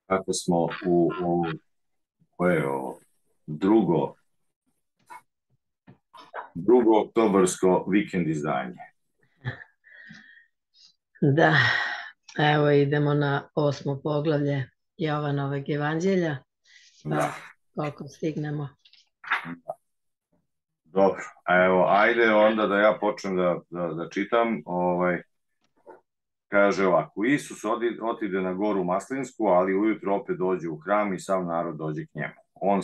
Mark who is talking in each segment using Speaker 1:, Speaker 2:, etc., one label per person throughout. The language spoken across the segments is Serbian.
Speaker 1: Kako smo u koje je ovo? Drugo oktobarsko vikend izdanje.
Speaker 2: Da, evo idemo na 8. poglavlje Jovanovog evanđelja, pa koliko stignemo.
Speaker 1: Dobro, evo, ajde onda da ja počnem da čitam. Kaže ovako, Isus otide na goru Maslinsku, ali ujutro opet dođe u hram i sav narod dođe k njemu. On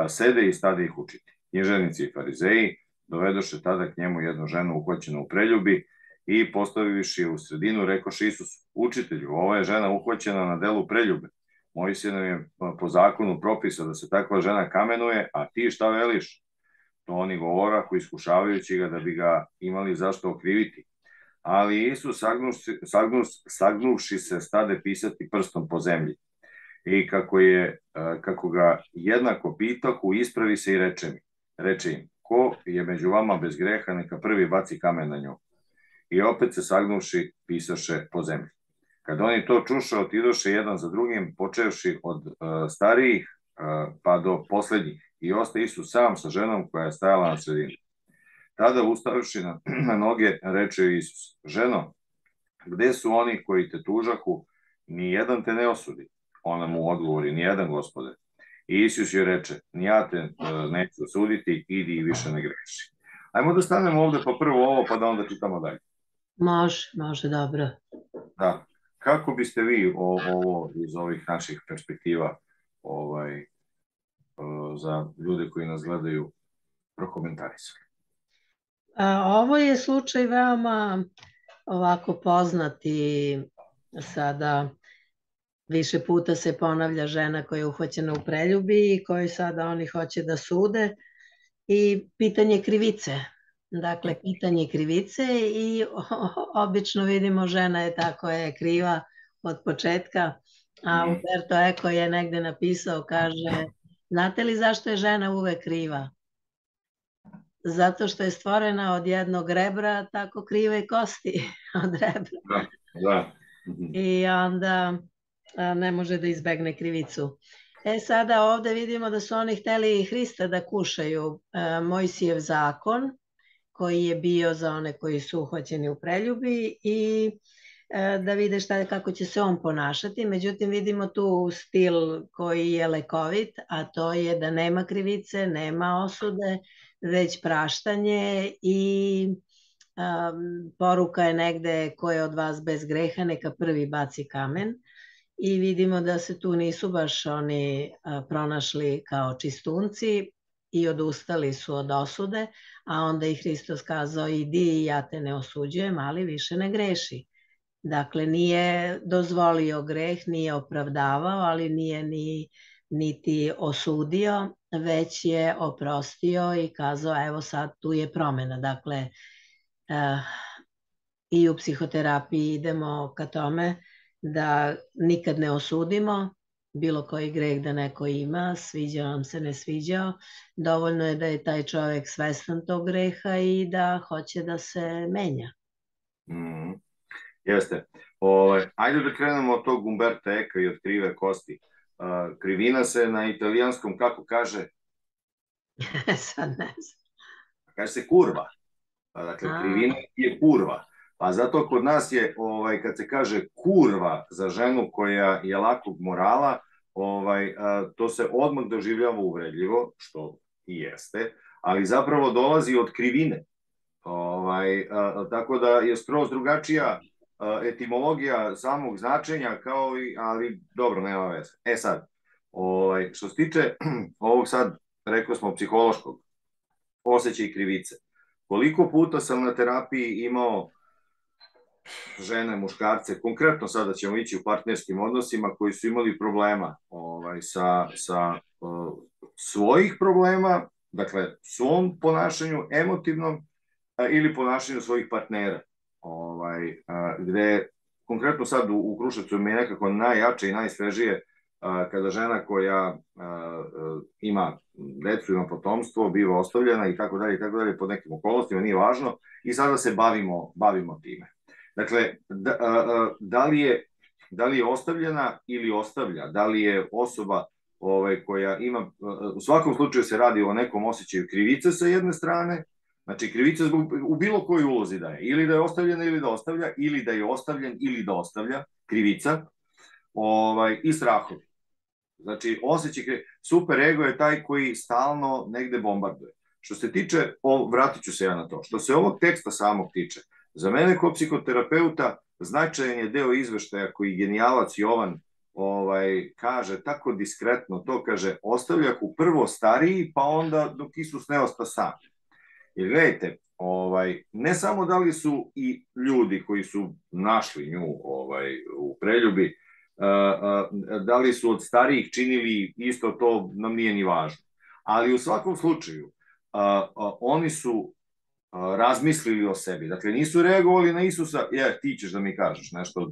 Speaker 1: sede i stade ih učiti. Književnici i farizeji dovedoše tada k njemu jednu ženu uhvaćenu u preljubi i postavivši je u sredinu, rekoše Isusu, učitelju, ova je žena uhvaćena na delu preljube. Mojsije nam je po zakonu propisao da se takva žena kamenuje, a ti šta veliš? To oni govorahu, iskušavajući ga da bi ga imali zašto okriviti. Ali Isus, sagnuvši se, stade pisati prstom po zemlji. I kako ga jednako pitahu, ispravi se i reče im, ko je među vama bez greha, neka prvi baci kamen na nju. I opet se sagnuvši, pisaše po zemlji. Kad oni to čuše, otidoše jedan za drugim, počevši od starijih pa do poslednjih. I ostaje Isus sam sa ženom koja je stajala na sredini. Tada ustavivši na noge, reče Isus, ženo, gde su oni koji te tužahu, ni jedan te ne osudi. Ona mu odgovori, ni jedan, Gospode. I Isus joj reče, ni ja te neću osuditi, idi i više ne greši. Ajmo da stanemo ovde pa prvo ovo, pa da onda čitamo dalje.
Speaker 2: Može, dobro.
Speaker 1: Da. Kako biste vi ovo iz ovih naših perspektiva za ljude koji nas gledaju prokomentarisali?
Speaker 2: Ovo je slučaj veoma ovako poznat i sada više puta se ponavlja žena koja je uhvaćena u preljubi i koju sada oni hoće da sude i pitanje krivice. Dakle, pitanje krivice i obično vidimo žena je ta koja je kriva od početka, a Umberto Eco je negde napisao, kaže, znate li zašto je žena uvek kriva? Zato što je stvorena od jednog rebra, tako krive kosti od rebra.
Speaker 1: Da.
Speaker 2: I onda ne može da izbegne krivicu. Sada ovde vidimo da su oni hteli Hrista da kušaju. Mojsijev zakon, koji je bio za one koji su uhvaćeni u preljubi i da vide kako će se on ponašati. Međutim, vidimo tu stil koji je lekovit, a to je da nema krivice, nema osude, već praštanje i poruka je negde ko je od vas bez greha, neka prvi baci kamen. I vidimo da se tu nisu baš oni pronašli kao čistunci i odustali su od osude, a onda i Hristos kazao, idi i ja te ne osuđujem, ali više ne greši. Dakle, nije dozvolio greh, nije opravdavao, ali nije niti osudio, već je oprostio i kazao, evo sad tu je promena. Dakle, i u psihoterapiji idemo ka tome da nikad ne osudimo bilo koji greh da neko ima, sviđao nam se, ne sviđao. Dovoljno je da je taj čovjek svestan tog greha i da hoće da se menja.
Speaker 1: Jeste. Ajde da krenemo od tog Umberta Eka i od krive kosti. Krivina se na italijanskom kako kaže?
Speaker 2: Sad ne znam.
Speaker 1: Kaže se kurva. Dakle, krivina je kurva. Pa zato kod nas je, kad se kaže kurva za ženu koja je lakog morala, to se odmah doživljava uvredljivo, što i jeste, ali zapravo dolazi od krivine. Tako da je skroz drugačija etimologija samog značenja, ali dobro, nema veze. Sad, što se tiče ovog sad, rekao smo, psihološkog osjećaj krivice. Koliko puta sam na terapiji imao žene, muškarce, konkretno sada ćemo ići u partnerskim odnosima koji su imali problema sa svojih problema, dakle svom ponašanju, emotivnom ili ponašanju svojih partnera. Gde konkretno sad u Kruševcu mi je nekako najjače i najsvežije kada žena koja ima decu, ima potomstvo, biva ostavljena i tako dalje, pod nekim okolnostima, nije važno, i sada se bavimo time. Dakle, da li je da li je ostavljena ili ostavlja, da li je osoba koja ima, u svakom slučaju se radi o nekom osjećaju krivice sa jedne strane, znači krivica u bilo kojoj ulozi da je, ili da je ostavljena ili da ostavlja, ili da je ostavljen ili da ostavlja, krivica, i strahovi. Znači, osjećaj super ego je taj koji stalno negde bombarduje. Što se tiče, vratit ću se ja na to, što se ovog teksta samog tiče, za mene kao psihoterapeuta značajan je deo izveštaja koji genijalac Jovan kaže tako diskretno, to kaže, ostavljahu prvo stariji, pa onda dok Isus ne osta sam. Jer gledajte, ne samo da li su i ljudi koji su našli nju u preljubi, da li su od starijih činili isto, to nam nije ni važno. Ali u svakom slučaju, oni su razmislili o sebi. Dakle, nisu reagovali na Isusa, ti ćeš da mi kažeš nešto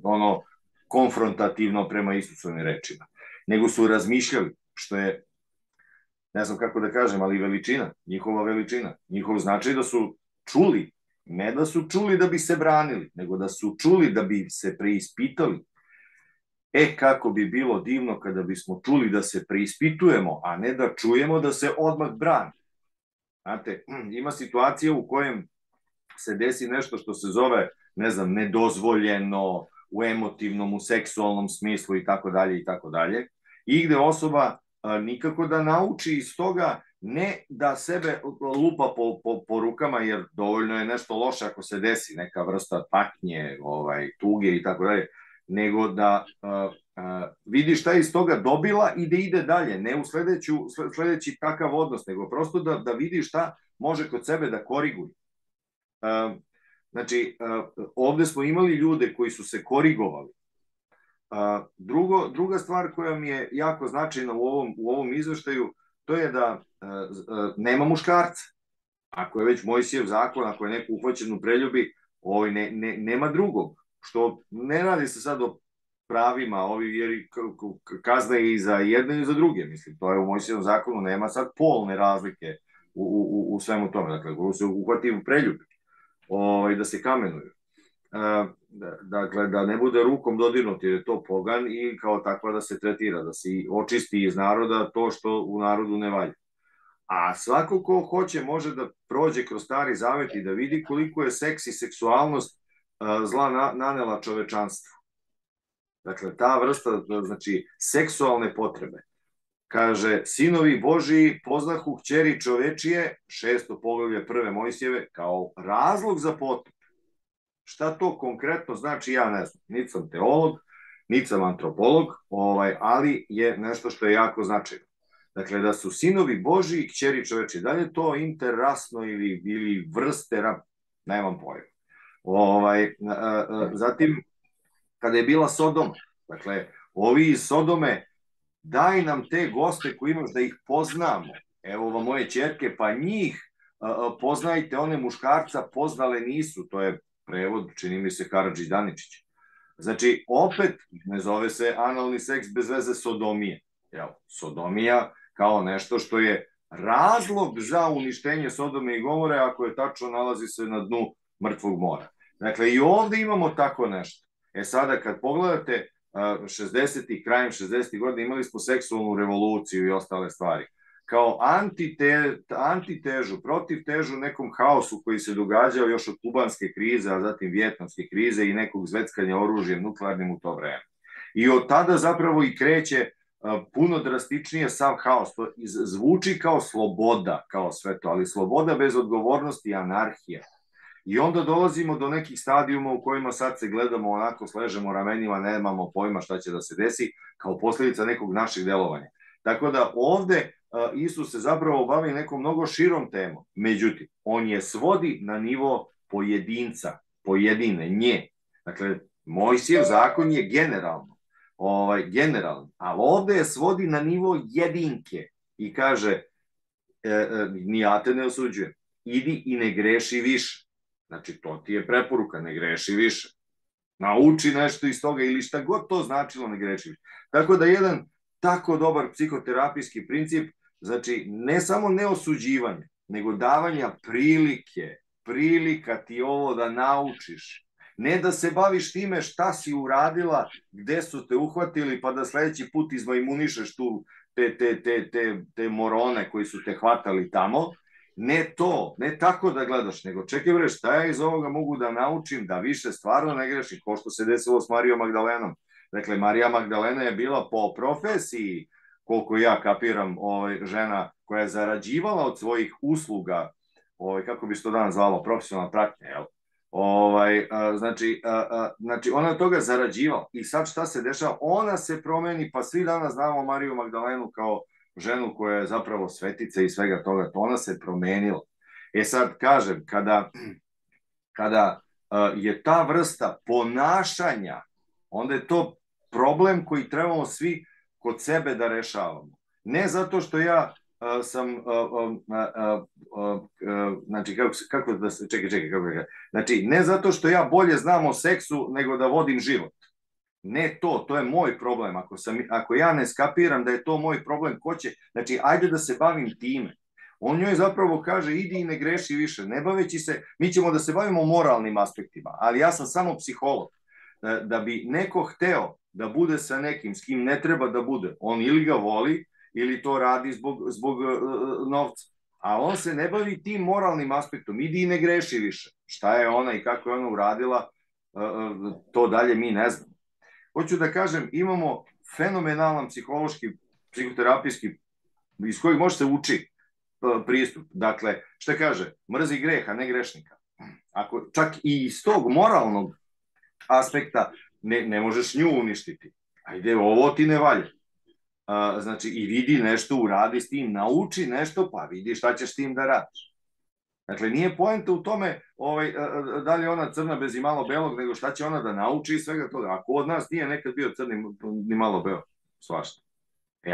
Speaker 1: konfrontativno prema Isusovim rečima, nego su razmišljali, što je, ne znam kako da kažem, ali veličina, njihova veličina, njihov značaj da su čuli, ne da su čuli da bi se branili, nego da su čuli da bi se preispitali. Kako bi bilo divno kada bismo čuli da se preispitujemo, a ne da čujemo da se odmah brani. Znate, ima situacija u kojem se desi nešto što se zove, ne znam, nedozvoljeno, u emotivnom, u seksualnom smislu i tako dalje, i gde osoba nikako da nauči iz toga, ne da sebe lupa po rukama, jer dovoljno je nešto loše ako se desi, neka vrsta patnje, tuge i tako dalje, nego da vidi šta je iz toga dobila i da ide dalje, ne u sledeći takav odnos, nego prosto da vidi šta može kod sebe da koriguje. Znači, ovde smo imali ljude koji su se korigovali. Druga stvar koja mi je jako značajna u ovom izveštaju, to je da nema muškarca. Ako je već Mojsijev zakon, ako je neko uhvaćen u preljubi, nema drugog. Što ne radi se sad o pravima, jer kazna je i za jedne i za druge, mislim, to je u Mojsijevom zakonu, nema sad polne razlike u svemu tome, dakle, ko se uhvati u preljubi, da se kamenuju. Dakle, da ne bude rukom dodirnut, jer je to pogan i kao takva da se tretira, da se očisti iz naroda to što u narodu ne valja. A svako ko hoće može da prođe kroz Stari Zavet i da vidi koliko je seks i seksualnost zla nanela čovečanstvu. Dakle, ta vrsta, znači, seksualne potrebe. Kaže, sinovi Božiji poznahu kćeri čovečije, 6. poglavlje 1. Mojsijeve, kao razlog za potop. Šta to konkretno znači, ja ne znam. Niti sam teolog, niti sam antropolog, ali je nešto što je jako značajno. Dakle, da su sinovi Božiji kćeri čovečije. Da li je to interrasno ili vrste, nemam pojma. Zatim, kada je bila Sodoma, dakle, ovi iz Sodome, daj nam te goste koji imaš da ih poznamo. Evo vam moje ćerke, pa njih poznajte, one muškarca poznale nisu. To je prevod, čini mi se, Karadžić Daničić. Znači, opet, ne zove se analni seks bez veze sodomije. Sodomija kao nešto što je razlog za uništenje Sodome i Gomore, ako je tačno, nalazi se na dnu mrtvog mora. Dakle, i ovde imamo tako nešto. Sada, kad pogledate 60-ih, krajem 60-ih godina, imali smo seksualnu revoluciju i ostale stvari. Kao antitežu, protivtežu nekom haosu koji se događao još od kubanske krize, a zatim vijetnamske krize i nekog zveckanja oružjem nuklearnim u to vreme. I od tada zapravo i kreće puno drastičnije sav haos. To zvuči kao sloboda, kao sve to, ali sloboda bez odgovornosti i anarhija. I onda dolazimo do nekih stadijuma u kojima sad se gledamo onako, sležemo ramenima, nemamo pojma šta će da se desi, kao posljedica nekog našeg delovanja. Tako da ovde Isus se zapravo bavi nekom mnogo širom temom. Međutim, on je svodi na nivo pojedinca, pojedine, nje. Dakle, Mojsijev zakon je generalno, ali ovde je svodi na nivo jedinke i kaže, ni ja te ne osuđujem, idi i ne greši više. Znači, to ti je preporuka, ne greši više. Nauči nešto iz toga ili šta god to značilo, ne greši više. Tako da jedan tako dobar psihoterapijski princip, znači, ne samo neosuđivanje, nego davanja prilika ti ovo da naučiš. Ne da se baviš time šta si uradila, gde su te uhvatili, pa da sledeći put izmajmunišeš tu te morone koji su te hvatali tamo. Ne to, ne tako da gledaš, nego čekaj bre, šta ja iz ovoga mogu da naučim da više stvarno ne grešim, ko što se desilo s Marijom Magdalenom. Dakle, Marija Magdalena je bila po profesiji, koliko ja kapiram, žena koja je zarađivala od svojih usluga, kako bi se to danas zvalo, profesionalna pratnja, jel? Znači, ona od toga zarađivala. I sad šta se dešava? Ona se promeni, pa svi danas znamo Mariju Magdalenu kao ženu koja je zapravo svetica i svega toga. Ona se promenila. Sad kažem, kada je ta vrsta ponašanja, onda je to problem koji trebamo svi kod sebe da rešavamo. Ne zato što ja sam, znači, kako da se, čekaj, znači, ne zato što ja bolje znam o seksu nego da vodim život. Ne to je moj problem. Ako ja ne skapiram da je to moj problem, ko će, znači, ajde da se bavim time. On njoj zapravo kaže, idi i ne greši više, ne baveći se, mi ćemo da se bavimo moralnim aspektima, ali ja sam samo psiholog. Da bi neko hteo da bude sa nekim s kim ne treba da bude, on ili ga voli, ili to radi zbog novca. A on se ne bavi tim moralnim aspektom, idi i ne greši više. Šta je ona i kako je ona uradila, to dalje mi ne znamo. Hoću da kažem, imamo fenomenalan psihološki, psihoterapijski, iz kojeg može se uči pristup. Dakle, šta kaže, mrzi greh, a ne grešnika. Ako čak i iz tog moralnog aspekta ne možeš nju uništiti. Ajde, ovo ti ne valja. Znači, i vidi nešto, uradi s tim, nauči nešto, pa vidi šta ćeš s tim da radiš. Dakle, nije poenta u tome da li je ona crna bez i malo belog, nego šta će ona da nauči i svega toga. Ako od nas nije nekad bio crni ni malo belog, svašta.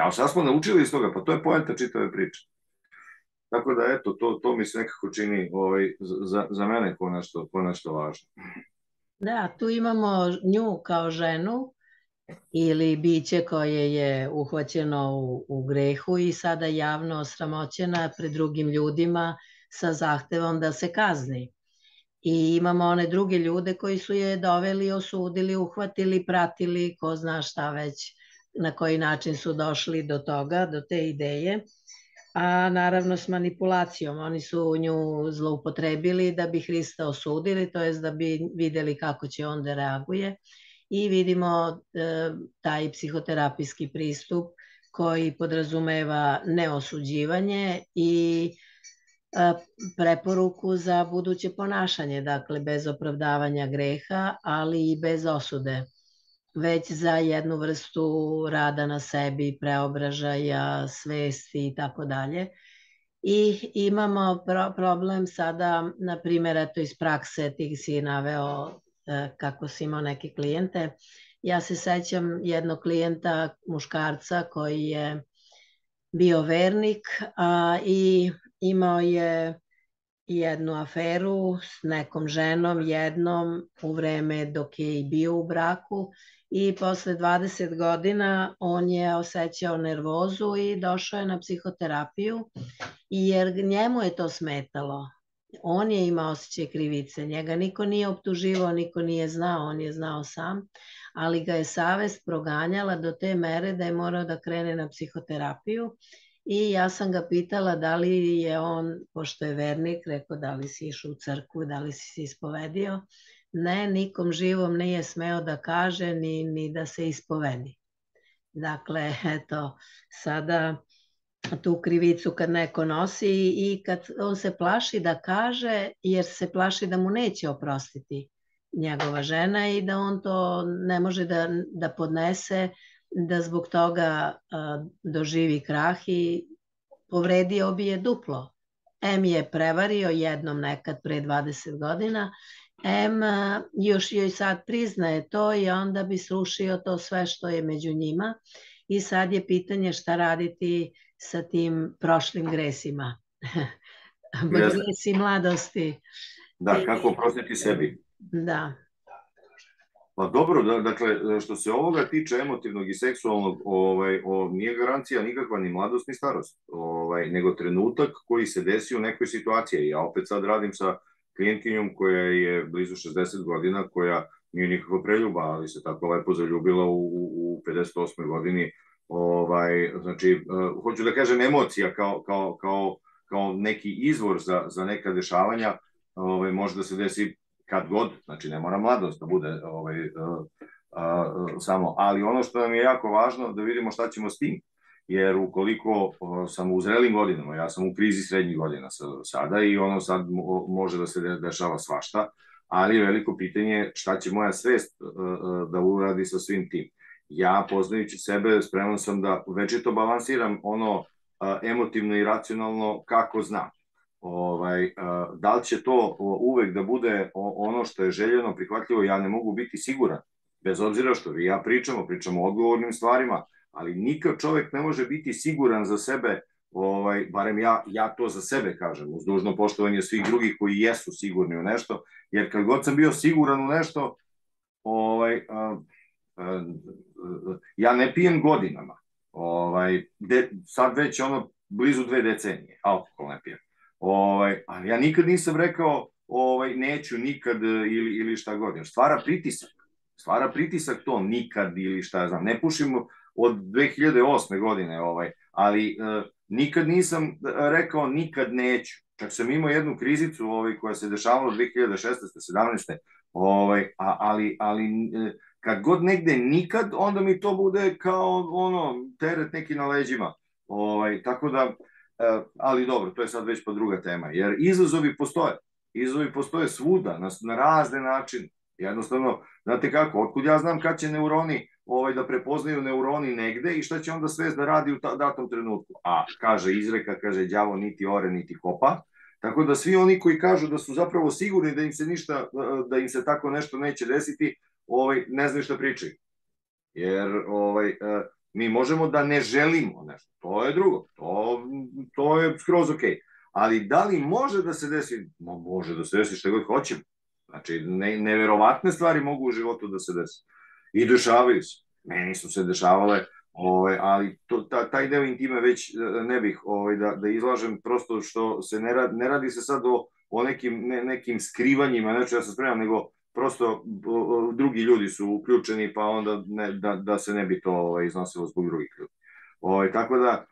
Speaker 1: A šta smo naučili iz toga? Pa to je poenta čitave priče. Tako da, eto, to mi se nekako čini za mene ko nešto važno.
Speaker 2: Da, tu imamo nju kao ženu ili biće koje je uhvaćeno u grehu i sada javno osramoćena pred drugim ljudima sa zahtevom da se kazni. I imamo one druge ljude koji su je doveli, osudili, uhvatili, pratili, ko zna šta već, na koji način su došli do toga, do te ideje. A naravno s manipulacijom. Oni su nju zloupotrebili da bi Hrista osudili, to jest da bi videli kako će on da reaguje. I vidimo taj psihoterapijski pristup koji podrazumeva neosuđivanje i preporuku za buduće ponašanje, dakle bez opravdavanja greha, ali i bez osude, već za jednu vrstu rada na sebi, preobražaja, svesti i tako dalje. I imamo problem sada, na primjer, eto iz prakse, ti si naveo kako si imao neke klijente. Ja se sećam jednog klijenta, muškarca, koji je bio vernik i imao je jednu aferu s nekom ženom, jednom u vreme dok je i bio u braku i posle 20 godina on je osjećao nervozu i došao je na psihoterapiju jer njemu je to smetalo. On je imao osjećaj krivice, njega niko nije optuživao, niko nije znao, on je znao sam, ali ga je savest proganjala do te mere da je morao da krene na psihoterapiju. I ja sam ga pitala da li je on, pošto je vernik, rekao da li si išao u crkvu, da li si se ispovedio. Ne, nikom živom nije smeo da kaže ni da se ispovedi. Dakle, eto, sada tu krivicu kad neko nosi i kad on se plaši da kaže, jer se plaši da mu neće oprostiti njegova žena i da on to ne može da podnese, da zbog toga doživi krah i povredio bi je duplo. M je prevario jednom nekad pre 20 godina, M još joj sad priznaje to i onda bi srušio to sve što je među njima i sad je pitanje šta raditi sa tim prošlim gresima. Gresi mladosti.
Speaker 1: Da, kako oprostiti sebi.
Speaker 2: Da.
Speaker 1: Pa dobro, dakle, što se ovoga tiče emotivnog i seksualnog, nije garancija nikakva ni mladost ni starost, nego trenutak koji se desi u nekoj situaciji. Ja opet sad radim sa klijentkinjom koja je blizu 60 godina, koja nije nikakva preljuba, ali se tako lepo zaljubila u 58. godini. Znači, hoću da kažem, emocija kao neki izvor za neka dešavanja, može da se desi kad god, znači ne mora mladost da bude samo, ali ono što nam je jako važno da vidimo šta ćemo s tim, jer ukoliko sam u zrelim godinama, ja sam u krizi srednjih godina sada i ono sad može da se dešava svašta, ali je veliko pitanje šta će moja svest da uradi sa svim tim. Ja, poznajući sebe, spreman sam da večito balansiram ono emotivno i racionalno kako znam. Da li će to uvek da bude ono što je željeno, prihvatljivo, ja ne mogu biti siguran, bez obzira što vi ja pričamo o odgovornim stvarima, ali nikad čovek ne može biti siguran za sebe, barem ja to za sebe kažem, uz dužno poštovanje svih drugih koji jesu sigurni u nešto, jer kad god sam bio siguran u nešto, ja ne pijem godinama, sad već ono blizu 2 decenije, alkohol ne pijem, ali ja nikad nisam rekao neću nikad ili šta god, jer stvara pritisak to nikad ili šta ja znam, ne pušim od 2008. godine, ali nikad nisam rekao nikad neću, čak sam imao jednu krizicu koja se dešavala 2016. 17. Ali kad god negde nikad, onda mi to bude kao teret neki na leđima, tako da, ali dobro, to je sad već pa druga tema, jer izazovi postoje svuda, na razne načine. Jednostavno, znate kako, otkud ja znam kad će neuroni da prepoznaju neuroni negde i šta će onda svest da radi u datom trenutku. A, kaže izreka, kaže đavo niti ore niti kopa, tako da svi oni koji kažu da su zapravo sigurni da im se tako nešto neće desiti, ne znaju šta pričaju. Jer mi možemo da ne želimo nešto, to je drugo, to je skroz okej. Ali da li može da se desi? Može da se desi šta god hoćemo. Znači, neverovatne stvari mogu u životu da se desi. I dešavaju se. Meni su se dešavale, ali taj deo intime već ne bih da izlažem, prosto što se ne radi se sad o nekim skrivanjima, neću ja se spremam, nego prosto drugi ljudi su uključeni, pa onda da se ne bi to iznosilo zbog drugih ljudi. Tako da,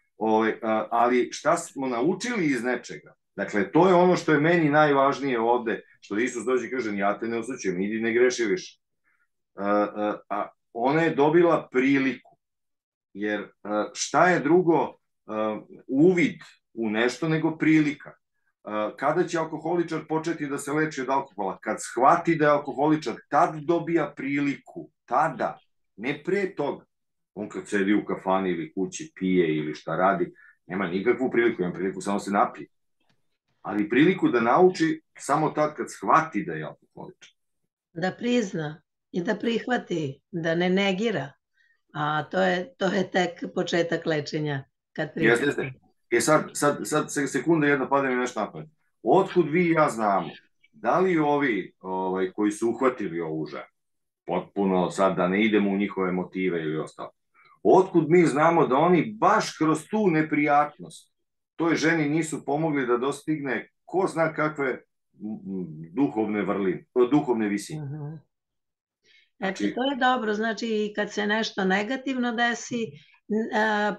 Speaker 1: ali šta smo naučili iz nečega? Dakle, to je ono što je meni najvažnije ovde, što Isus dođe i kaže, ja te ne osuđujem, idi ne greši više. Ona je dobila priliku, jer šta je drugo uvid u nešto nego prilika? Kada će alkoholičar početi da se leči od alkohola? Kad shvati da je alkoholičar, tad dobija priliku, tada, ne pre toga. On kad sedi u kafani ili kući, pije ili šta radi, nema nikakvu priliku, ima priliku samo se napije. Ali priliku da nauči samo tad kad shvati da je alkoholičar.
Speaker 2: Da prizna i da prihvati, da ne negira. A to je tek početak lečenja.
Speaker 1: Jeste. Sad sekunda jedna pada mi nešto napad. Otkud vi i ja znamo, da li ovi koji su uhvatili ovu ženu, potpuno sad da ne idemo u njihove motive ili ostalo, otkud mi znamo da oni baš kroz tu neprijatnost toj ženi nisu pomogli da dostigne ko zna kakve duhovne visine.
Speaker 2: Znači, to je dobro, znači kad se nešto negativno desi,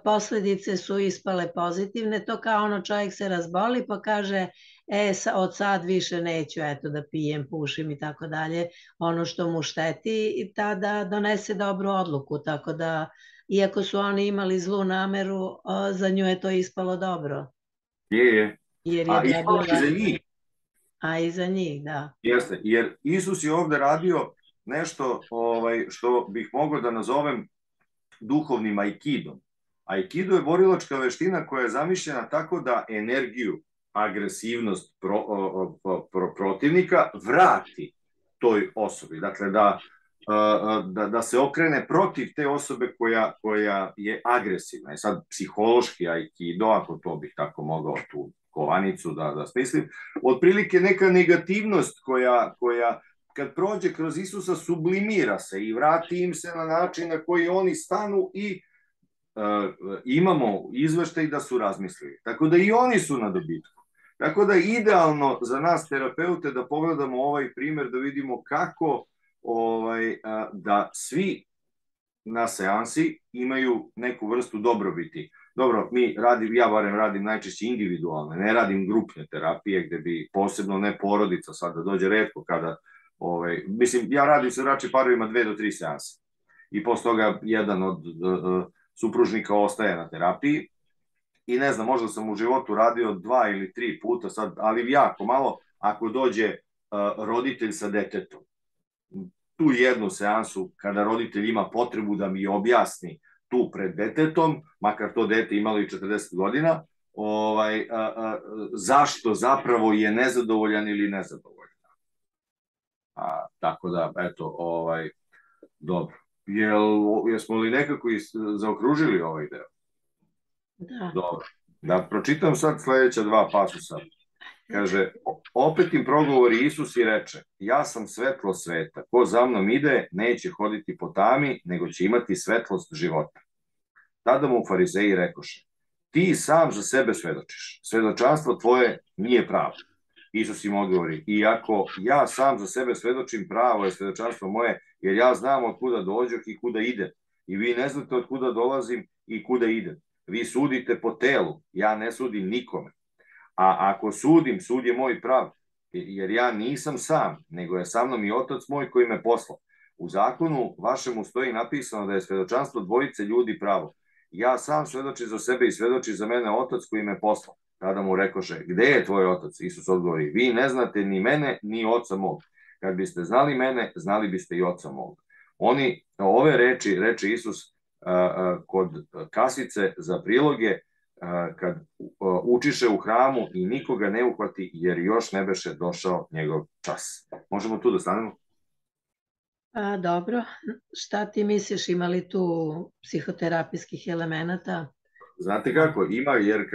Speaker 2: posledice su ispale pozitivne, to kao ono čovjek se razboli pa kaže od sad više neću da pijem, pušim i tako dalje, ono što mu šteti i tada donese dobru odluku, tako da iako su oni imali zlu nameru, za nju je to ispalo dobro.
Speaker 1: Je. A ispalo i za njih.
Speaker 2: A i za njih, da.
Speaker 1: Jeste, jer Isus je ovde radio nešto što bih mogao da nazovem duhovnim aikidom. Aikido je borilačka veština koja je zamišljena tako da energiju, agresivnost protivnika vrati toj osobi. Dakle, da se okrene protiv te osobe koja je agresivna. I sad psihološki aikido, ako to bih tako mogao tu kovanicu da smislim, otprilike neka negativnost koja kad prođe kroz Isusa sublimira se i vrati im se na način na koji oni stanu i imamo izveštaj da su razmislili. Tako da i oni su na dobitku. Tako da je idealno za nas terapeute da pogledamo ovaj primer, da vidimo kako da svi na seansi imaju neku vrstu dobrobiti. Dobro, ja barem radim najčešće individualne, ne radim grupne terapije gde bi posebno ne porodica sad da dođe retko kada, mislim, ja radim sa bračnim parovima 2 do 3 seanse i posle toga jedan od supružnika ostaje na terapiji i ne znam, možda sam u životu radio 2 ili 3 puta sad, ali jako malo ako dođe roditelj sa detetom. Tu jednu seansu kada roditelj ima potrebu da mi objasni tu pred detetom, makar to dete imalo i 40 godina, zašto zapravo je nezadovoljan ili nezadovoljan. Tako da, eto, dobro. Jesmo li nekako zaokružili ovaj deo?
Speaker 2: Da.
Speaker 1: Dobro. Da pročitam sad sledeća 2 pasusa. Kaže, opet im progovori Isus i reče, ja sam svetlo sveta, ko za mnom ide, neće hoditi po tami, nego će imati svetlost života. Tada mu farizeji rekoše, ti sam za sebe svedočiš, svedočanstvo tvoje nije pravo. Isus im odgovori, iako ja sam za sebe svedočim, pravo je svedočanstvo moje, jer ja znam od kuda dođoh i kuda idem. I vi ne znate od kuda dolazim i kuda idem. Vi sudite po telu, ja ne sudim nikome. A ako sudim, sud je moj prav, jer ja nisam sam, nego je sa mnom i Otac moj koji me poslao. U zakonu vašemu stoji napisano da je svedočanstvo dvojice ljudi pravo. Ja sam svedočim za sebe i svedoči za mene Otac koji me poslao. Tada mu rekoše, gde je tvoj Otac? Isus odgovori, vi ne znate ni mene, ni Oca mog. Kad biste znali mene, znali biste i Oca mog. Ove reči, reče Isus kod kasice za priloge, kad učiše u hramu i nikoga ne uhvati, jer još ne beše došao njegov čas. Možemo tu da stanemo?
Speaker 2: Dobro. Šta ti misliš, ima li tu psihoterapijskih elemenata?
Speaker 1: Znate kako, ima, jer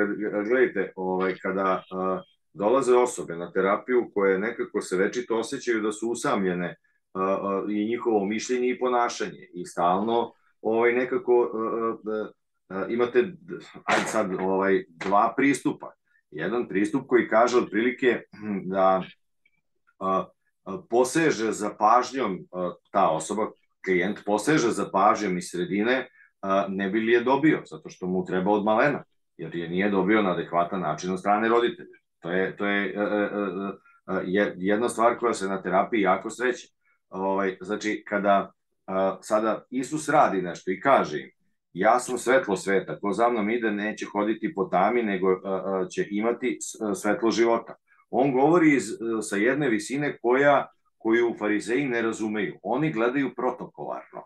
Speaker 1: gledajte, kada dolaze osobe na terapiju koje nekako se večito osjećaju da su usamljene i njihovo mišljenje i ponašanje i stalno nekako imate, ajde sad, 2 pristupa. Jedan pristup koji kaže otprilike da poseže za pažnjom, ta osoba, klijent poseže za pažnjom iz sredine, ne bi li je dobio, zato što mu treba od malena, jer je nije dobio na adekvatan način od strane roditelja. To je jedna stvar koja se na terapiji jako sreće. Znači, kada sada Isus radi nešto i kaže im, ja sam svetlo sveta, ko za mnom ide neće hoditi po tami, nego će imati svetlo života. On govori sa jedne visine koju farizeji ne razumeju. Oni gledaju protokolarno.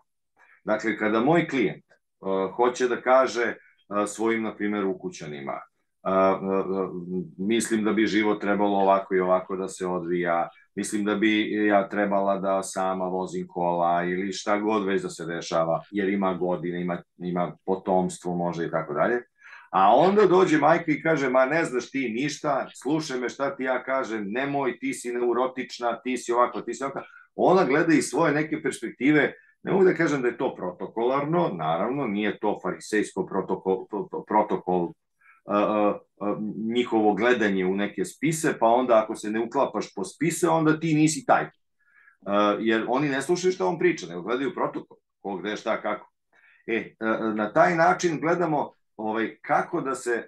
Speaker 1: Dakle, kada moj klijent hoće da kaže svojim, na primjer, ukućanima, mislim da bi život trebalo ovako i ovako da se odvija, mislim da bi ja trebala da sama vozim kola ili šta god već da se dešava, jer ima godine, ima potomstvo možda i tako dalje. A onda dođe majka i kaže, ma ne znaš ti ništa, slušaj me šta ti ja kažem, nemoj, ti si neurotična, ti si ovako, ti si ovako. Ona gleda iz svoje neke perspektive, ne mogu da kažem da je to protokolarno, naravno, nije to farisejsko protokol njihovo gledanje u neke spise, pa onda ako se ne uklapaš po spise, onda ti nisi taj. Jer oni ne slušaju šta on priča, nego gledaju protokol, ko gde, šta, kako. Na taj način gledamo kako da se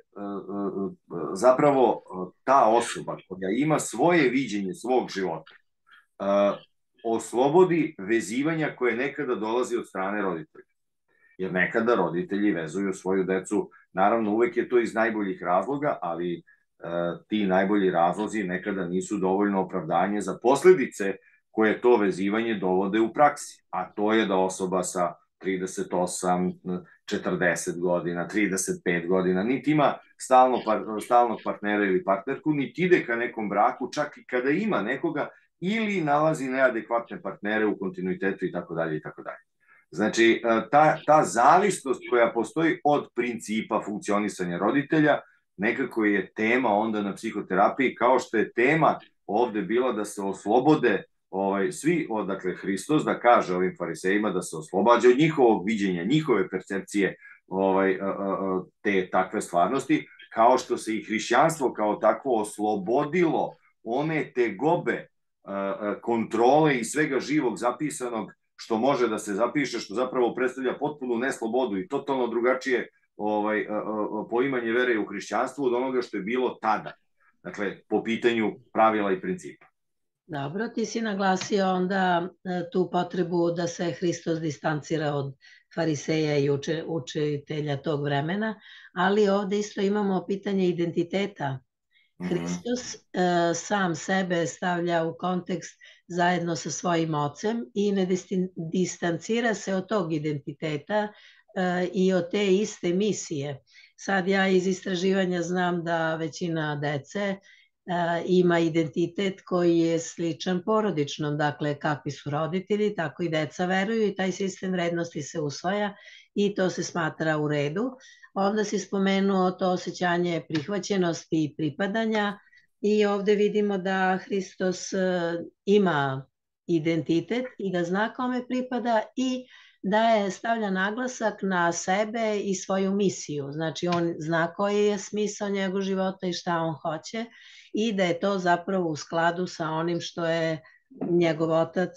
Speaker 1: zapravo ta osoba koja ima svoje viđenje svog života oslobodi vezivanja koje nekada dolazi od strane roditelja. Jer nekada roditelji vezuju svoju decu, naravno uvek je to iz najboljih razloga, ali ti najbolji razlozi nekada nisu dovoljno opravdanje za posledice koje to vezivanje dovode u praksi. A to je da osoba sa 38, 40 godina, 35 godina, niti ima stalnog partnera ili partnerku, niti ide ka nekom braku, čak i kada ima nekoga, ili nalazi neadekvatne partnere u kontinuitetu i tako dalje i tako dalje. Znači, ta zavisnost koja postoji od principa funkcionisanja roditelja nekako je tema onda na psihoterapiji, kao što je tema ovde bila da se oslobode svi, dakle Hristos da kaže ovim farisejima da se oslobađa od njihovog viđenja, njihove percepcije te takve stvarnosti, kao što se i hrišćanstvo kao takvo oslobodilo one tegobe kontrole i svega živog zapisanog što može da se zapiše, što zapravo predstavlja potpunu neslobodu i totalno drugačije poimanje vere u hrišćanstvu od onoga što je bilo tada. Dakle, po pitanju pravila i principa.
Speaker 2: Dobro, ti si naglasio onda tu potrebu da se Hristos distancira od fariseja i učitelja tog vremena, ali ovde isto imamo pitanje identiteta. Hristos sam sebe stavlja u kontekst zajedno sa svojim ocem i ne distancira se od tog identiteta i od te iste misije. Sad ja iz istraživanja znam da većina dece ima identitet koji je sličan porodičnom, dakle kakvi su roditelji, tako i deca veruju i taj sistem vrednosti se usvaja i to se smatra u redu. Onda si spomenuo to osjećanje prihvaćenosti i pripadanja i ovde vidimo da Hristos ima identitet i da zna kome pripada i da je stavlja naglasak na sebe i svoju misiju. Znači on zna koji je smisao njegov života i šta on hoće i da je to zapravo u skladu sa onim što je njegov otac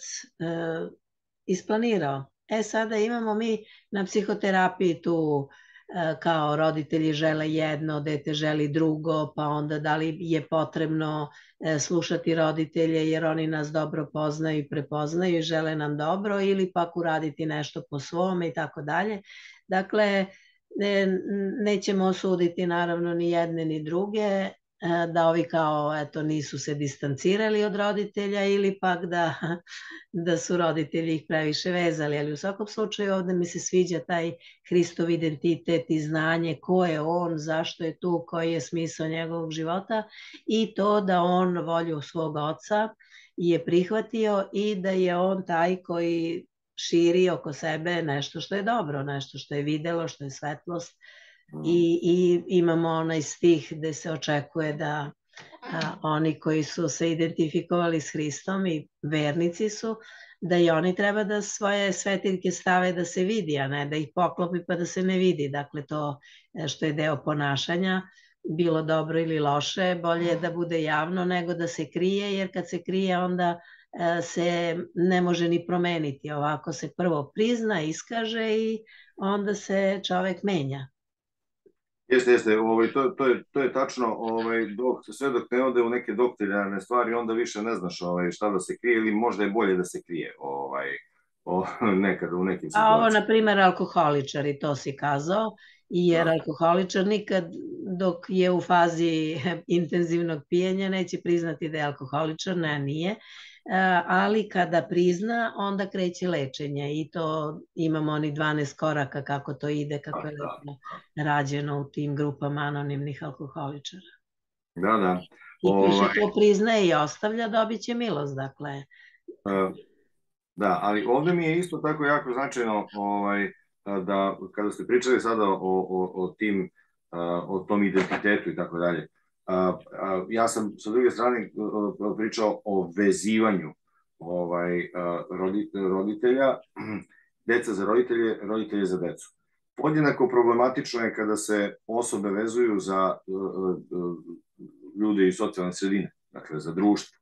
Speaker 2: isplanirao. Sada imamo mi na psihoterapiji tu kao roditelji žele jedno, dete želi drugo, pa onda da li je potrebno slušati roditelje jer oni nas dobro poznaju i prepoznaju i žele nam dobro ili pak uraditi nešto po svome i tako dalje. Dakle, nećemo osuditi naravno ni jedne ni druge, da ovi kao eto nisu se distancirali od roditelja ili pak da su roditelji ih previše vezali, ali u svakom slučaju ovde mi se sviđa taj Hristov identitet i znanje ko je on, zašto je tu, koji je smisao njegovog života i to da on volju svog oca je prihvatio i da je on taj koji širi oko sebe nešto što je dobro, nešto što je videlo, što je svetlost. I imamo onaj stih gde se očekuje da oni koji su se identifikovali s Hristom i vernici su, da i oni treba da svoje svetiljke stave da se vidi, a ne da ih poklopi pa da se ne vidi. Dakle, to što je deo ponašanja, bilo dobro ili loše, bolje je da bude javno nego da se krije, jer kad se krije onda se ne može ni promeniti. Ovako se prvo prizna, iskaže i onda se čovek menja.
Speaker 1: Jeste, to je tačno, sve dok ne ode u neke doktrinarne stvari, onda više ne znaš šta da se krije ili možda je bolje da se krije nekada u nekim situacijama.
Speaker 2: A ovo, na primer, alkoholičari, to si kazao, jer alkoholičar nikad dok je u fazi intenzivnog pijenja neće priznati da je alkoholičar, ne, nije, ali kada prizna, onda kreće lečenje i to imamo oni 12 koraka kako to ide, kako je rađeno u tim grupama anonimnih alkoholičara.
Speaker 1: Da.
Speaker 2: I ko se to priznaje i ostavlja, dobit će milost, dakle.
Speaker 1: Da, ali ovde mi je isto tako jako značajno da kada ste pričali sada o tom identitetu i tako dalje, ja sam sa druge strane pričao o vezivanju roditelja, deca za roditelje, roditelje za decu. Podjednako problematično je kada se osobe vezuju za ljude iz socijalne sredine, dakle za društvo.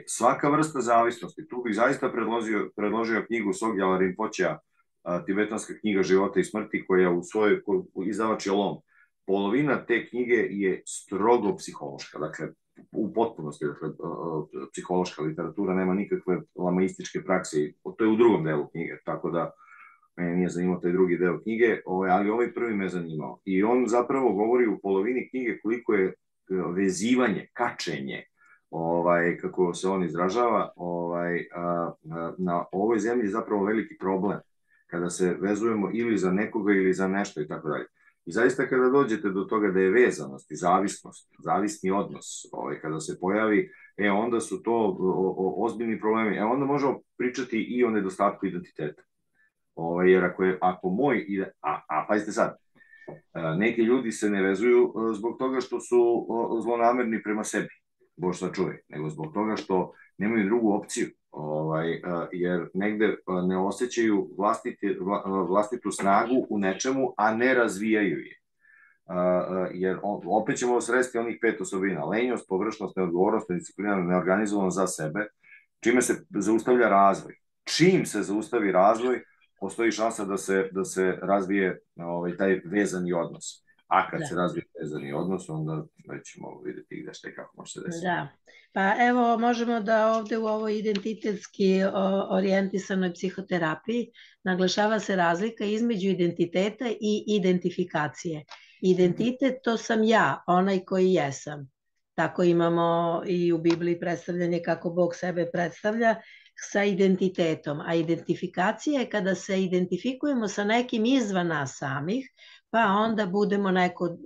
Speaker 1: Svaka vrsta zavisnosti, tu bih zaista predložio knjigu Sogyala Rinpochea, Tibetanska knjiga života i smrti, koja u svojoj izdavač je Lom. Polovina te knjige je strogo psihološka, dakle u potpunosti, dakle, psihološka literatura, nema nikakve lamaističke prakse, to je u drugom delu knjige, tako da mene nije zanimao taj drugi deo knjige, ali ovaj prvi me zanimao. I on zapravo govori u polovini knjige koliko je vezivanje, kačenje, kako se on izražava, na ovoj zemlji zapravo veliki problem, kada se vezujemo ili za nekoga ili za nešto i tako dalje. I zaista kada dođete do toga da je vezanost i zavisnost, zavisni odnos, kada se pojavi, onda su to ozbiljni problemi. Onda možemo pričati i o nedostatku identiteta. Jer ako moj, pazite sad, neki ljudi se ne vezuju zbog toga što su zlonamerni prema sebi, Bož sačuvaj, nego zbog toga što nemaju drugu opciju, jer negde ne osjećaju vlastitu snagu u nečemu, a ne razvijaju je. jer opet ćemo sresti onih 5 osobina: lenjost, površnost, neodgovornost, nedisciplina, neorganizovanost za sebe, čime se zaustavlja razvoj. Čim se zaustavi razvoj, postoji šansa da se razvije taj vezani odnos. A kad se razvije vezani odnos, onda ćemo vidjeti gde šta i kako može se desiti.
Speaker 2: Da, pa evo možemo da ovde u ovoj identitetski orijentisanoj psihoterapiji naglašava se razlika između identiteta i identifikacije. Identitet, to sam ja, onaj koji jesam. Tako imamo i u Bibliji predstavljanje kako Bog sebe predstavlja sa identitetom. A identifikacija je kada se identifikujemo sa nekim izvan nas samih, pa onda budemo neko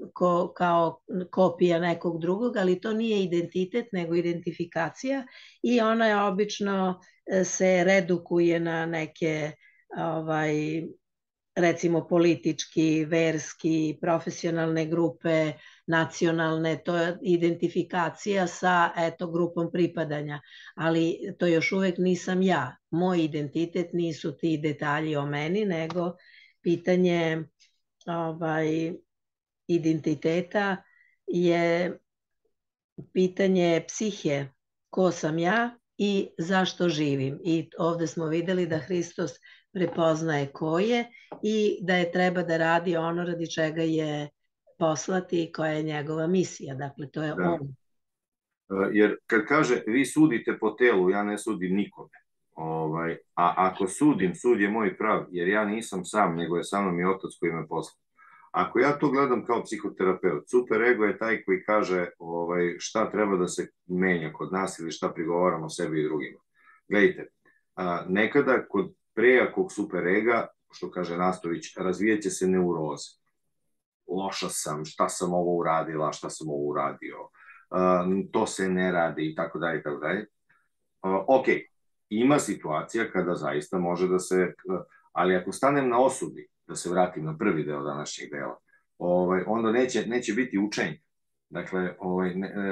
Speaker 2: kao kopija nekog drugog, ali to nije identitet, nego identifikacija i ona je obično se redukuje na neke recimo politički, verski, profesionalne grupe, nacionalne, to je identifikacija sa grupom pripadanja, ali to još uvek nisam ja. Moj identitet nisu ti detalji o meni, nego pitanje identiteta je pitanje psihe, ko sam ja i zašto živim. I ovde smo videli da Hristos prepoznaje ko je i da je treba da radi ono radi čega je poslati i koja je njegova misija. Dakle, to je on.
Speaker 1: Jer kad kaže vi sudite po telu, ja ne sudim nikome. A ako sudim, sud je moj prav, jer ja nisam sam, nego je sa mnom i Otac koji me poslao. Ako ja to gledam kao psihoterapeut, superego je taj koji kaže šta treba da se menja kod nas ili šta prigovaramo sebi i drugima. Gledajte, nekada kod prejakog superega, što kaže Nastović, razvijaće se neuroze. Loša sam, šta sam ovo uradila, šta sam ovo uradio, to se ne radi i tako dalje i tako dalje. Ok, ima situacija kada zaista može da se, ali ako stanem na osudi, da se vratim na prvi deo današnjeg dela, onda neće biti učenja. Dakle,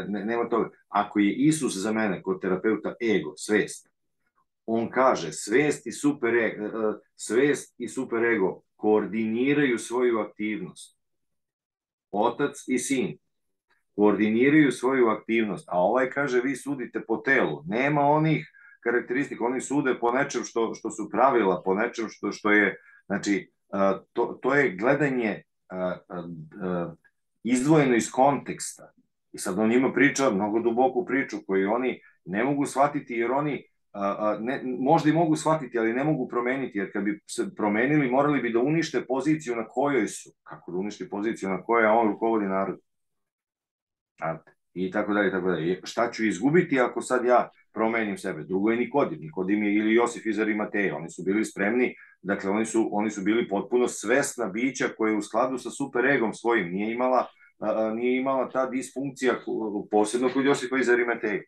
Speaker 1: nema toga. Ako je Isus za mene kod terapeuta ego, svest, on kaže svest i superego koordiniraju svoju aktivnost. Otac i sin koordiniraju svoju aktivnost, a ovaj kaže vi sudite po telu. Nema onih karakteristika, oni sude po nečem što su pravila, po nečem što je, znači, to je gledanje izdvojeno iz konteksta. I sad on ima priča, mnogo duboku priču koju oni ne mogu shvatiti, jer oni možda i mogu shvatiti, ali ne mogu promeniti, jer kad bi se promenili, morali bi da unište poziciju na kojoj su. Kako da uništi poziciju na kojoj on rukovodi narod? I tako dalje, tako dalje. Šta ću izgubiti ako sad ja promenim sebe? Drugo je Nikodim. Nikodim je ili Josif iz Arimateja. Oni su bili spremni, dakle oni su bili potpuno svesna bića koje u skladu sa superegom svojim nije imala ta disfunkcija, posebno kod Josifa iz Arimateja.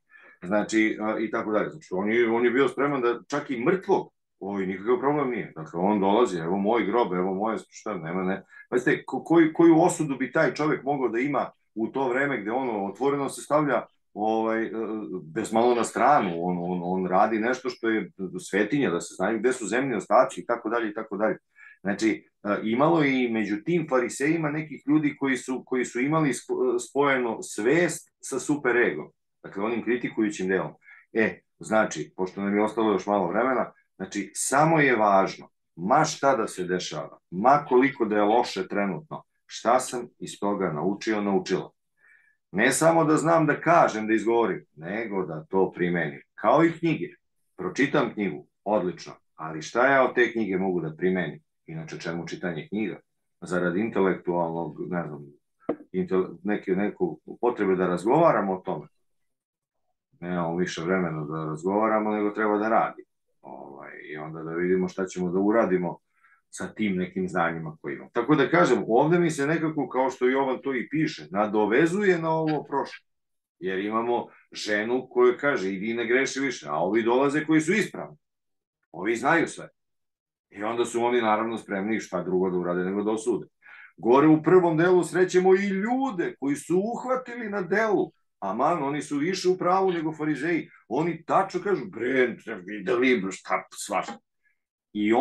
Speaker 1: Znači, i tako dalje. Znači, on je bio spreman da čak i mrtvog, nikakav problem nije. Dakle, on dolazi, evo moj grob, evo moje, šta, nema, ne. Pazite, koju osudu bi taj čovek mogao da ima u to vreme gde on otvoreno se stavlja bez malo na stranu, on radi nešto što je svetinja, da se znaju gde su zemlji ostaci i tako dalje i tako dalje. Znači, imalo je i među tim farisejima nekih ljudi koji su imali spojeno svest sa superegom, dakle onim kritikujućim delom. Znači, pošto nam je ostalo još malo vremena, znači, samo je važno, ma šta da se dešava, ma koliko da je loše trenutno, šta sam iz toga naučila. Ne samo da znam da kažem, da izgovorim, nego da to primenim. Kao i knjige. Pročitam knjigu, odlično, ali šta ja od te knjige mogu da primenim? Inače, čemu čitanje knjiga? Zarad intelektualnog, ne znam, neku potrebe da razgovaramo o tome. Nemamo više vremena da razgovaramo, nego treba da radimo. I onda da vidimo šta ćemo da uradimo sa tim nekim znanjima koje imamo. Tako da kažem, ovde mi se nekako, kao što Jovan to i piše, nadovezuje na ovo prošlo. Jer imamo ženu koja kaže, idi ne greši više, a ovi dolaze koji su ispravni. Ovi znaju sve. I onda su oni naravno spremni šta drugo da urade nego da osude. Gore u prvom delu srećemo i ljude koji su uhvatili na delu. Aman, oni su više u pravu nego farizeji. Oni tačno kažu, bre, videli, šta, svašta. I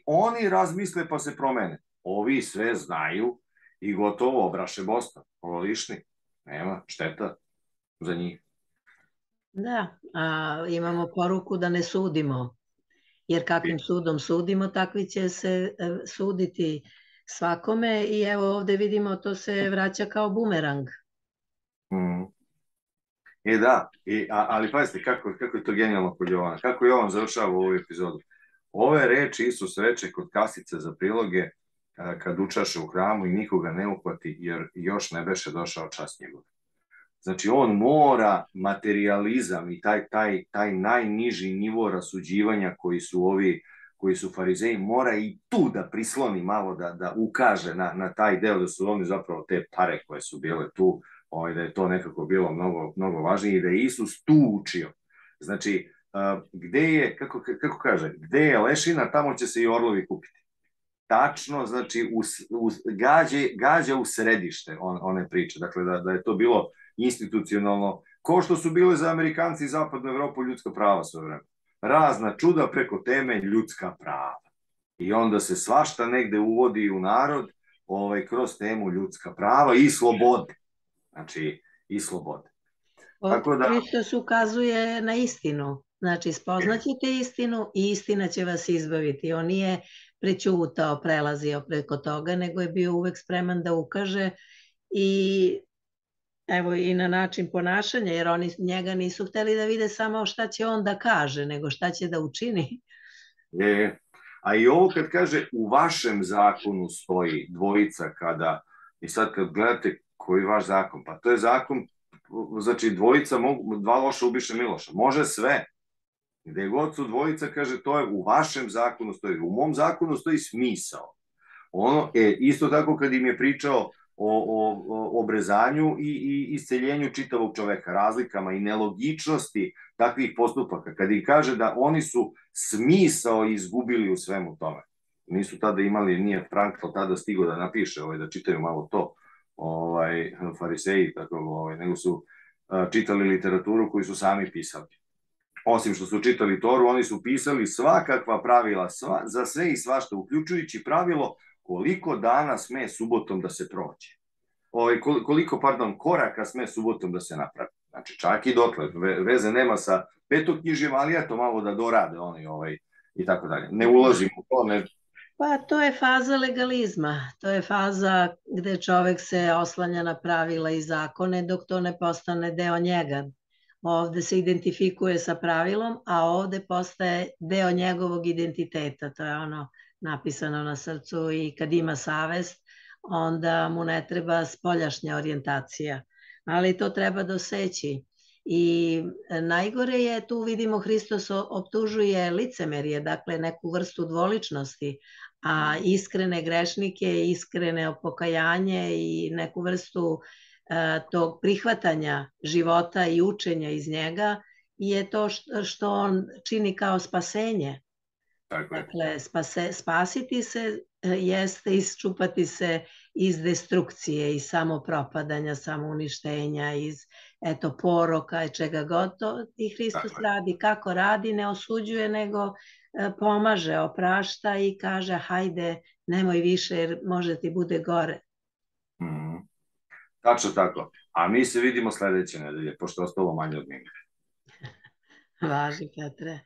Speaker 1: oni razmisle pa se promene. Ovi sve znaju i gotovo, obraše Boston, lišni, nema, šteta za njih.
Speaker 2: Da, imamo poruku da ne sudimo, jer kakvim sudom sudimo, takvi će se suditi svakome i evo ovde vidimo to se vraća kao bumerang.
Speaker 1: Da, ali pazite kako je to genijalno kod Jovana, kako Jovan završava ovu epizodu. Ove reči Isus reče kod kasice za priloge kad učaše u hramu i nikoga ne uhvati jer još ne beše došao čas njegov. Znači on mora materializam i taj najniži nivo rasuđivanja koji su farizeji, mora i tu da prisloni malo, da ukaže na taj deo, da su oni zapravo te pare koje su bile tu, da je to nekako bilo mnogo važnije i da je Isus tu učio. Znači, gde je, kako kaže, gde je lešina, tamo će se i orlovi kupiti. Tačno, znači, gađa u središte one priče. Dakle, da je to bilo institucionalno, ko što su bile za Amerikanci i Zapadnu Evropu ljudska prava sve vreme. Razna čuda preko teme ljudska prava. I onda se svašta negde uvodi u narod kroz temu ljudska prava i slobode. Znači, i slobode.
Speaker 2: Hristos ukazuje na istinu. Znači, spoznaćete istinu i istina će vas izbaviti. On nije prećutao, prelazio preko toga, nego je bio uvek spreman da ukaže i evo i na način ponašanja, jer oni njega nisu hteli da vide samo šta će on da kaže, nego šta će da učini.
Speaker 1: A i ovo kad kaže u vašem zakonu stoji dvojica kada, i sad kad gledate koji je vaš zakon, pa to je zakon, znači dvojica mogu, dva loša ubiše Miloša, može sve. Gde god su dvojica, kaže, to je u vašem zakonu stoji, u mom zakonu stoji smisao. Isto tako kad im je pričao o obrezanju i isceljenju čitavog čoveka, razlikama i nelogičnosti takvih postupaka, kad im kaže da oni su smisao izgubili u svemu tome. Nisu tada imali, nije Frankl tada stigao da napiše, da čitaju malo to, fariseji, nego su čitali literaturu koju su sami pisali. Osim što su čitali Toru, oni su pisali svakakva pravila za sve i svašta, uključujući pravilo koliko dana sme subotom da se prođe. Koliko koraka sme subotom da se napravi. Znači, čak i dotle. Veze nema sa petoknjižjem, ali eto malo da dorade oni i tako dalje. Ne ulazim u to, ne...
Speaker 2: Pa to je faza legalizma. To je faza gde čovek se oslanja na pravila i zakone dok to ne postane deo njega. Ovde se identifikuje sa pravilom, a ovde postaje deo njegovog identiteta. To je ono napisano na srcu i kad ima savest, onda mu ne treba spoljašnja orijentacija. Ali to treba doseći. I najgore je, tu vidimo Hristos optužuje licemerje, dakle neku vrstu dvoličnosti, a iskrene grešnike, iskrene pokajanje i neku vrstu tog prihvatanja života i učenja iz njega je to što on čini kao spasenje. Dakle, spasiti se jeste isčupati se iz destrukcije, iz samopropadanja, samouništenja, iz poroka i čega god to i Hristos radi. Kako radi, ne osuđuje, nego pomaže, oprašta i kaže hajde, nemoj više jer može ti bude gore.
Speaker 1: Tačno tako. A mi se vidimo sledeće nedelje, pošto je ostalo manje od minuta.
Speaker 2: Važi, Petre.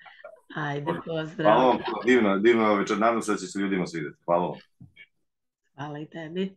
Speaker 2: Ajde, pozdrav.
Speaker 1: Hvala vam, divno večer. Nadam se da će se ljudima svideti. Hvala vam.
Speaker 2: Hvala i tebi.